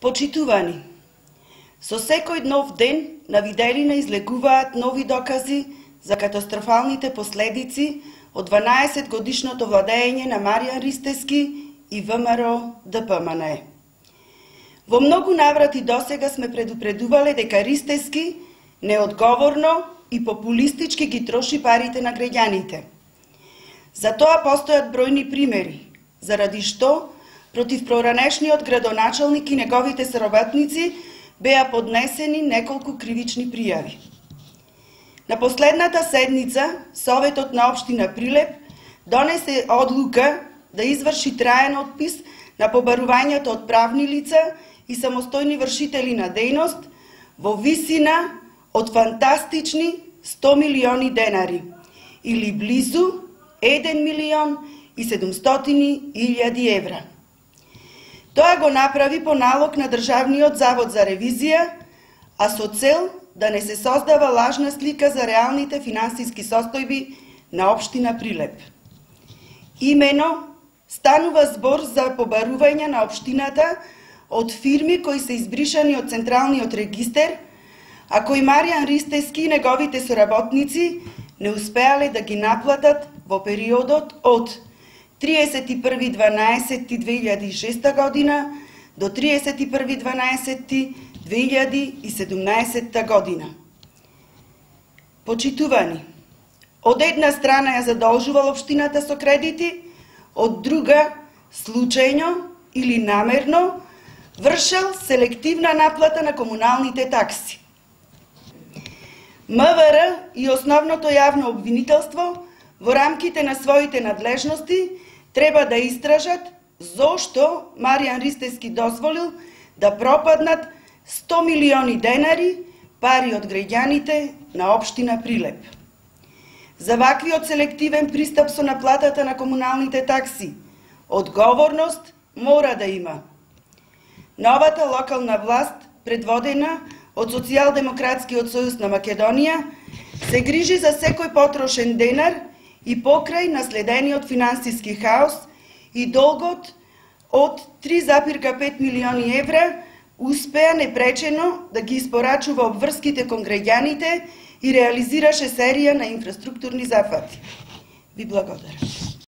Почитувани, со секој нов ден на виделина излегуваат нови докази за катастрофалните последици од 12-годишното владење на Маријан Ристевски и ВМРО-ДПМНЕ. Во многу наврати досега сме предупредувале дека Ристевски неодговорно и популистички ги троши парите на граѓаните. За тоа постојат бројни примери, заради што против проранешниот градоначалник и неговите соработници беа поднесени неколку кривични пријави. На последната седница, Советот на општина Прилеп донесе одлука да изврши траен отпис на побарувањето од правни лица и самостојни вршители на дејност во висина од фантастични 100 милиони денари, или близу 1 милион и 700 илјади евра. Тоа го направи по налог на Државниот завод за ревизија, а со цел да не се создава лажна слика за реалните финансиски состојби на општина Прилеп. Имено станува збор за побарување на општината од фирми кои се избришани од Централниот регистер, а кои Маријан Ристевски и неговите соработници не успеале да ги наплатат во периодот од 31.12.2006 година до 31.12.2017 година. Почитувани, од една страна ја задолжувал општината со кредити, од друга, случајно или намерно, вршел селективна наплата на комуналните такси. МВР и основното јавно обвинителство во рамките на своите надлежности треба да истражат зошто Маријан Ристевски дозволил да пропаднат 100 милиони денари пари од граѓаните на општина Прилеп. За ваквиот селективен пристап со наплатата на комуналните такси одговорност мора да има. Новата локална власт, предводена од Социјалдемократскиот сојуз на Македонија, се грижи за секој потрошен денар и покрај наследениот финансиски хаос и долгот од 3,5 милиони евра успеа непречено да ги испорачува обврските кон граѓаните и реализираше серија на инфраструктурни зафати. Ви благодарам.